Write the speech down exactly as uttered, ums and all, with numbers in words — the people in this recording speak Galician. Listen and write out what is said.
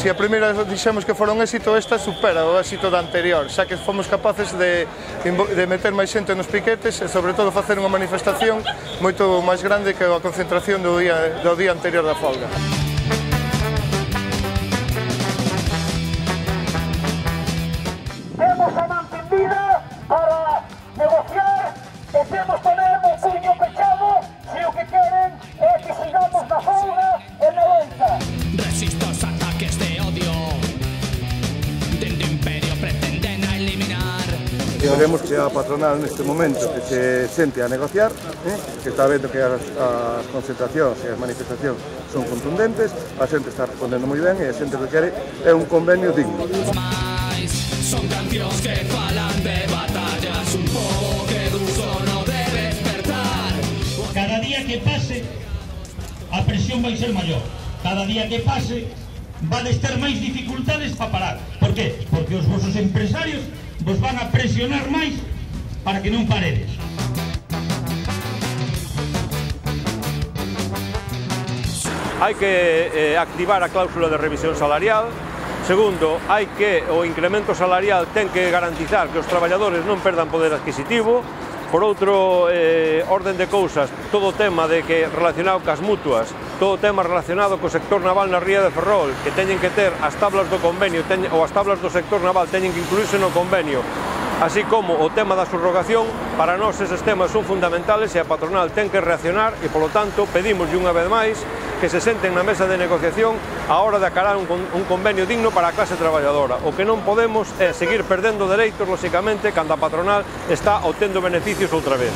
Se a primeira dixemos que fora un éxito, esta supera o éxito da anterior, xa que fomos capaces de, de meter máis xente nos piquetes e sobre todo facer unha manifestación moito máis grande que a concentración do día, do día anterior da folga. Temos a man tendida para negociar e temos tamén o puño pechado se o que queren é que sigamos na folga e na loita. Resisto aos ataques de odio dende o imperio pretenden a eliminar. Queremos que a patronal neste momento que se sente a negociar, eh, que está vendo que as, as concentracións e as manifestacións son contundentes, a xente está respondendo moi ben e a xente que quere é un convenio digno. Son cancións que falan de batallas, un pobo que dun sono debe despertar. Cada día que pase, a presión vai ser maior. Cada día que pase, vades ter máis dificultades para parar. Por qué? Porque os vosos empresarios vos van a presionar máis para que non paredes. Hai que eh, activar a cláusula de revisión salarial. Segundo, hai que o incremento salarial ten que garantizar que os traballadores non perdan poder adquisitivo. Por outro eh, orden de cousas, todo o tema de que relacionado cas mutuas, todo o tema relacionado co sector naval na ría de Ferrol, que teñen que ter as tablas do convenio teñen, ou as tablas do sector naval teñen que incluirse no convenio, así como o tema da subrogación. Para nós eses temas son fundamentales e a patronal ten que reaccionar e, polo tanto, pedimos unha vez máis que se senten na mesa de negociación a hora de acarar un, un convenio digno para a clase traballadora. O que non podemos é seguir perdendo dereitos, lóxicamente, cando a patronal está obtendo beneficios outra vez.